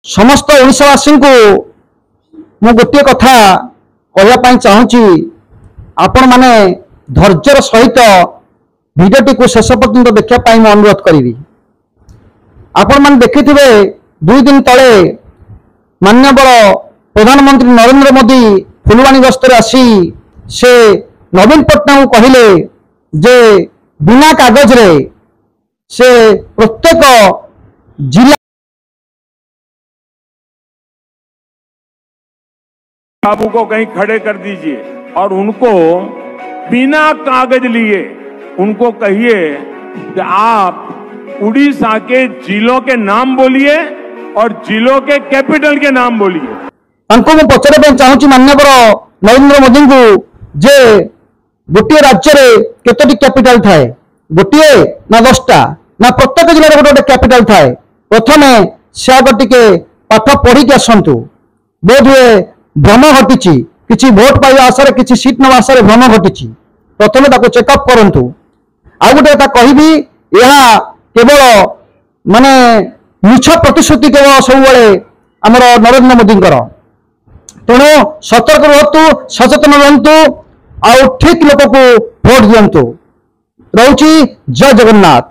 ସମସ୍ତ ଓଡ଼ିଶାବାସୀଙ୍କୁ ମୁଁ ଗୋଟିଏ କଥା କହିବା ପାଇଁ ଚାହୁଁଛି, ଆପଣମାନେ ଧୈର୍ଯ୍ୟର ସହିତ ଭିଡ଼ିଓଟିକୁ ଶେଷ ପର୍ଯ୍ୟନ୍ତ ଦେଖିବା ପାଇଁ ମୁଁ ଅନୁରୋଧ କରିବି। ଆପଣମାନେ ଦେଖିଥିବେ, 2 ଦିନ ତଳେ ମାନ୍ୟବର ପ୍ରଧାନମନ୍ତ୍ରୀ ନରେନ୍ଦ୍ର ମୋଦି ଫୁଲବାଣୀ ଗସ୍ତରେ ଆସି ସେ ନବୀନ ପଟ୍ଟନାୟକଙ୍କୁ କହିଲେ ଯେ ବିନା କାଗଜରେ ସେ ପ୍ରତ୍ୟେକ ଜିଲ୍ଲା बाबू को कहीं खड़े कर दीजिए और उनको बिना कागज लिए उनको कहिए कि आप उड़ीसा के जिलों के नाम बोलिए और जिलों के कैपिटल के नाम बोलिए। ତାଙ୍କୁ ମୁଁ ପଚାରିବା ପାଇଁ ଚାହୁଁଛି ମାନ୍ୟବର ନରେନ୍ଦ୍ର ମୋଦିଙ୍କୁ ଯେ ଗୋଟିଏ ରାଜ୍ୟରେ କେତୋଟି କ୍ୟାପିଟାଲ ଥାଏ? ଗୋଟିଏ ନା 10ଟା, ନା ପ୍ରତ୍ୟେକ ଜିଲ୍ଲାରେ ଗୋଟେ ଗୋଟେ କ୍ୟାପିଟାଲ ଥାଏ? ପ୍ରଥମେ ସେ ଆଗ ଟିକେ ପାଠ ପଢିକି ଆସନ୍ତୁ। ବୋଧହୁଏ ଭ୍ରମ ଘଟିଛି, କିଛି ଭୋଟ ପାଇବା ଆଶାରେ, କିଛି ସିଟ୍ ନେବା ଆଶାରେ ଭ୍ରମ ଘଟିଛି। ପ୍ରଥମେ ତାକୁ ଚେକଅପ୍ କରନ୍ତୁ। ଆଉ ଗୋଟେ କଥା କହିବି, ଏହା କେବଳ ମାନେ ମିଛ ପ୍ରତିଶ୍ରୁତି କେବଳ ସବୁବେଳେ ଆମର ନରେନ୍ଦ୍ର ମୋଦିଙ୍କର। ତେଣୁ ସତର୍କ ରୁହନ୍ତୁ, ସଚେତନ ରୁହନ୍ତୁ ଆଉ ଠିକ ଲୋକକୁ ଭୋଟ ଦିଅନ୍ତୁ। ରହୁଛି, ଜୟ ଜଗନ୍ନାଥ।